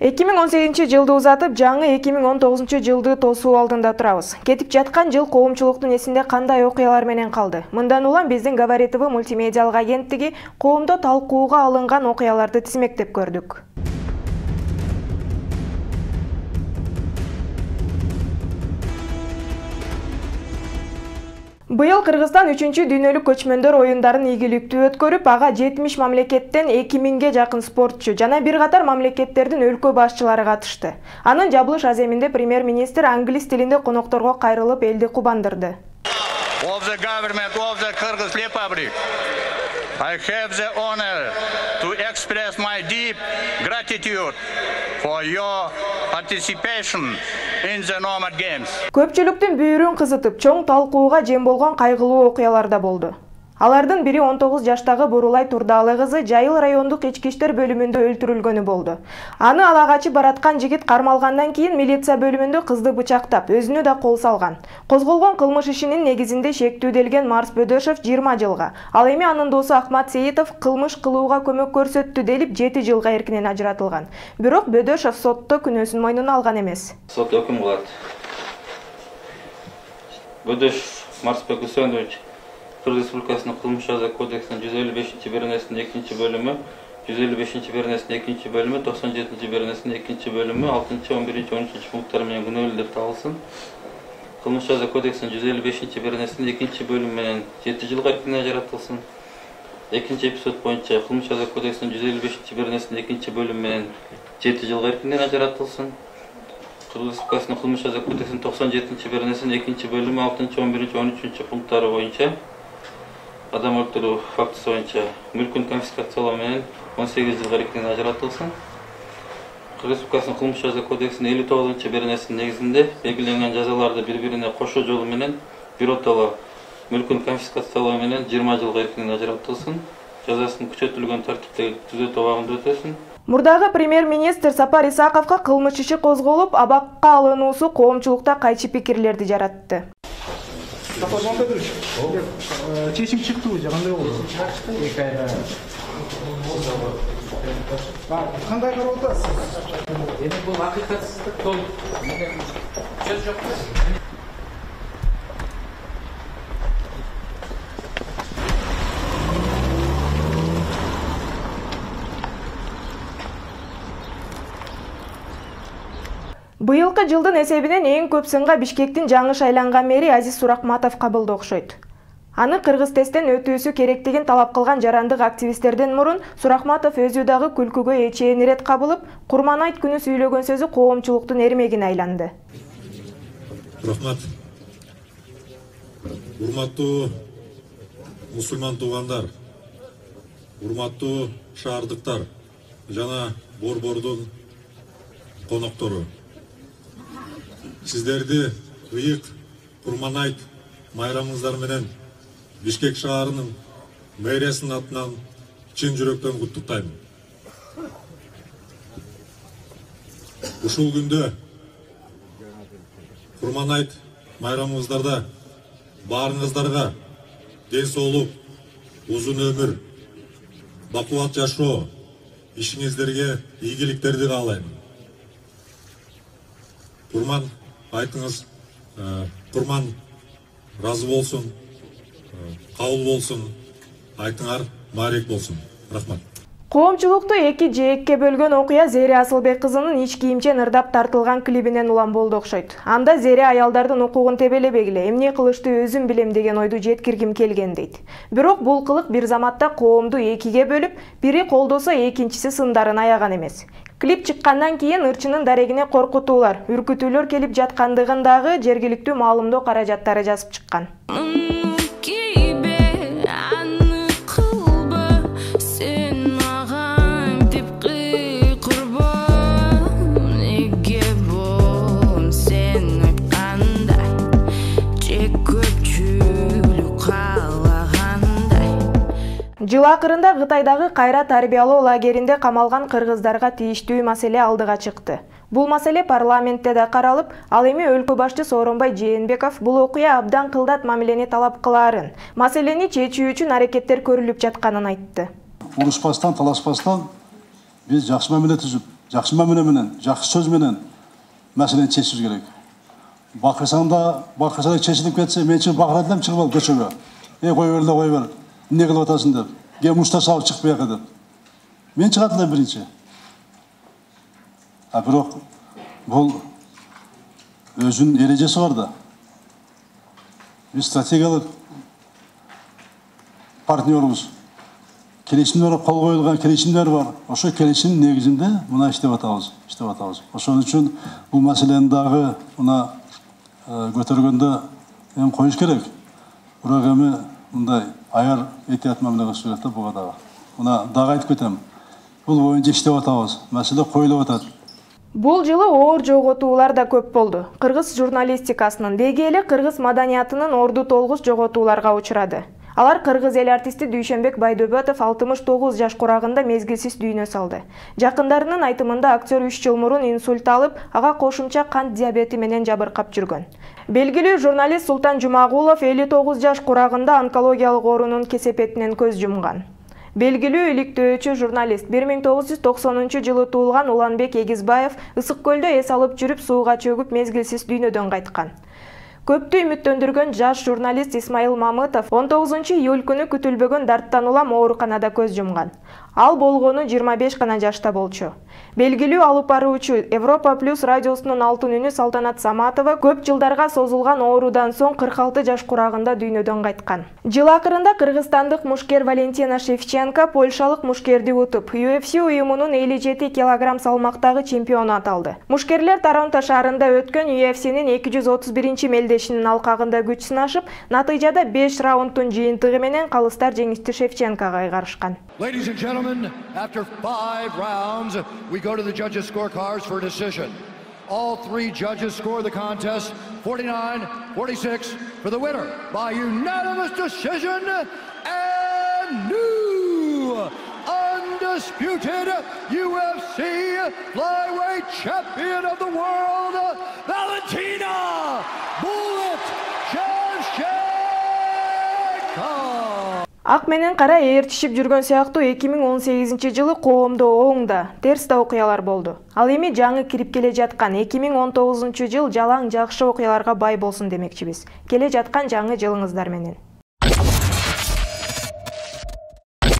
2018-жылды узатып, жаңы 2019-жылды тосуу алдында турабыз. Кетип жаткан жыл коомчулуктун эсинде кандай окуялар менен калды? Мындан улам биздин Говори ТВ мультимедиалык агенттиги коомдо талкууга алынган окуяларды тизмектеп көрдүк. Быйыл Кыргызстан 3-дүйнөлүк көчмөндөр оюндарын ийгиликтүү өткөрүп, ага 70 мамлекеттен 2000ге жакын спортчу жана бир катар мамлекеттердин өлкө башчылары катышты. Анын жабылыш аземинде премьер-министр англис тилинде конокторго кайрылып элди кубандырды. Of the government of the Kyrgyz Republic, I have the honor to express my deep gratitude for your participation in the Nomad Games. Көпчүлүктүн бүйүрүн кызытып, чоң талкууга жем болгон кайгылуу окуялар да болду. Алардын бири 19 жаштагы Бурулай Турдаалы кызы Жайыл райондук ички иштер бөлүмүндө өлтүрүлгөнү болду. Аны ала качып бараткан жигит кармалгандан кийин милиция бөлүмүндө кызды бычактап, өзүнө да кол салган. Козголгон кылмыш ишинин негизинде шектүүделген Марс Бөдөшов 20 жылга, ал эми анын досу Ахмат Сейитов кылмыш кылууга көмөк көрсөттү делип 7 жылга эркинен ажыратылган. Бирок Бөдөшов сотто күнөөсүн мойнуна алган эмес. Сот өкүм кылат. Бөдөшов Марс Бөдөшович Кыргыз Республикасынын кылмыш жаза кодексинин 155-беренесинин 2-бөлүмү, 155-беренесинин 2-бөлүмү, 97-беренесинин 2-бөлүмү, 6-11-13 пункттары менен күнөөлүү деп табылсын. Кылмыш жаза кодексинин 155-беренесинин 2-бөлүмү менен 7 жылга эркинен ажыратылсын. Экинчи эпизод боюнча кылмыш жаза кодексинин 155-беренесинин 2-бөлүмү менен 7 жылга эркинен ажыратылсын. Кыргыз Республикасынын кылмыш жаза кодексинин 97-беренесинин 2-бөлүмү 6-11-13 пункттары боюнча адам өлтүрүү фактысы боюнча мүлкүн конфискациялоо менен 18 жылга эркинен ажыратылсын. Кыргыз Республикасынын кылмыш жаза кодексинин 59-беренесинин негизинде белгиленген жазаларды бири-бирине кошо жолу менен биротоло мүлкүн конфискациялоо менен 20 жылга эркинен ажыратылсын. Жазасын күчөтүлгөн тартиптеги түзөтүү абагында өтөсүн. Мурдагы премьер-министр Сапар Исаковго кылмыш иши козголуп, абакка алынуусу коомчулукта кайчы пикирлерди жаратты. Чечим чыктыбы же кандай болду? Чыкты 2 айда. Кандай карап атасыз? Эми бул акыйкатсыздык толук. Сөз жок. Быйылкы жылдын эсебинен эң көп сынга Бишкектин жаңы шайланган мэри Азиз Суракматов кабылды окшойт. Аны Кыргыз тесттен өтүүсү керектигин талап кылган жарандык активисттерден мурун Суракматов өзү дагы күлкүгө эчейин ирет кабылып, Курманайт күнү сүйлөгөн сөзү коомчулуктун эрмегине айланды. Рахмат. Урматтуу мусулман туугандар, урматтуу шаардыктар жана борбордун коноктору. Сиздерди ыйык Курманайт майрамыңыздар менен Бишкек шаарынын мэриясынын атынан чын жүрөктөн куттуктайм. Ушул күндө Курманайт майрамыңыздарда баарыңыздарга ден соолук, узун өмүр, бакубат жашоо, ишиңиздерге ийгиликтерди каалайм. Курман айтыңыз, Курман разы болсун, кабыл болсун, айтыңар баарек болсун. Рахмат. Коомчулукту эки жээкке бөлгөн окуя Зере Асылбек кызынын ич кийимчен ырдап тартылган клибинен улам болду окшойт. Анда Зере аялдардын укугун тебелебегиле, эмне кылышты өзүм билем деген ойду жеткиргим келген дейт. Бирок бул кылык бир заматта коомду экиге бөлүп, бири колдосо экинчиси сындарын аяган эмес. Клип чыккандан кийин ырчынын дарегине коркутуулар, үркүтүүлөр келип жаткандыгын дагы жергиликтүү маалымдоо каражаттары жазып чыккан. Жыл акырында Кытайдагы кайра тарбиялоо лагеринде камалган кыргыздарга тийиштүү маселе алдыга чыкты. Бул маселе парламентте да каралып, ал эми өлкө башчы Сооронбай Жээнбеков бул окуя абдан кылдат мамилени талап кылаарын, маселени чечүү үчүн аракеттер көрүлүп жатканын айтты. Урушпастан, талашпастан Биз жакшы мамиле түзүп, жакшы мамиле менен, жакшы сөз менен маселени чечишибиз керек. Бакырсаңда чечилип кетсе, мен чыгып бакырат элем, чыгып алып көчөгө. Кой бер да кой бер. Эмне кылып атасың деп. Кем мушта салып чык бияка деп. Мен чыгат элем биринчи. Бирок бул өзүнүн эрежеси бар да. Биз стратегиялык партнербуз. Келишимдер кол коюлган келишимдер бар. Ошо келишимдин негизинде мына иштеп атабыз. Ошон үчүн бул маселени дагы мына көтөргөндө эми коюш керек. Бирок эми мындай аяр этият мамиле кылыш керек да буга дагы. Мына дагы айтып кетем. Бул боюнча иштеп атабыз. Маселе коюлуп атат. Бул жылы оор жоготуулар да көп болду. Кыргыз журналистикасынын, деги эле кыргыз маданиятынын орду толгуч жоготууларга учурады. Алар кыргыз эл артисти Дүйшөнбек Байдөбөтов 69 жаш курагында мезгилсиз дүйнө салды. Жакындарынын айтымында актер 3 жыл мурун инсульт алып, ага кошумча кант диабети менен жабыркап жүргөн. Белгилүү журналист Султан Жумагулов 59 жаш курагында онкологиялык оорунун кесепетинен көз жумган. Белгилүү иликтөөчү журналист 1990-жылы туулган Уланбек Эгизбаев Ысык көлдө эс алып жүрүп сууга чөгүп мезгилсиз дүйнөдөн кайткан. Көптү үмүттөндүргөн жаш журналист Исмаил Мамытов 19-июль күнү күтүлбөгөн дарттан улам ооруканада көз жумган. Ал болгону 25 гана жашта болчу. Белгилүү алып баруучу Европа Плюс радиосунун алтын үнү Салтанат Саматова көп жылдарга созулган оорудан соң 46 жаш курагында дүйнөдөн кайткан. Жыл акырында кыргызстандык мушкер Валентина Шевченко польшалык мушкерди утуп, UFC уюмунун 57 килограмм салмактагы чемпиону аталды. Мушкерлер Торонто шаарында өткөн UFC'нин 231 мелдешинин алкагында күч сынашып, натыйжада 5 раундтун жыйынтыгы менен калыстар жеңишти Шевченкого кайгарышкан. Ladies and gentlemen, after 5 rounds, we go to the judges' scorecards for a decision. All 3 judges score the contest 49-46 for the winner by unanimous decision and new undisputed UFC flyweight champion of the world, Valentina Bullet Shevchenko. Ак менен кара ээрчишип жүргөн сыяктуу 2018-жылы коомдо оң да, терс да окуялар болду. Ал эми жаңы кирип келе жаткан 2019-жыл жалаң жакшы окуяларга бай болсун демекчибиз. Келе жаткан жаңы жылыңыздар менен.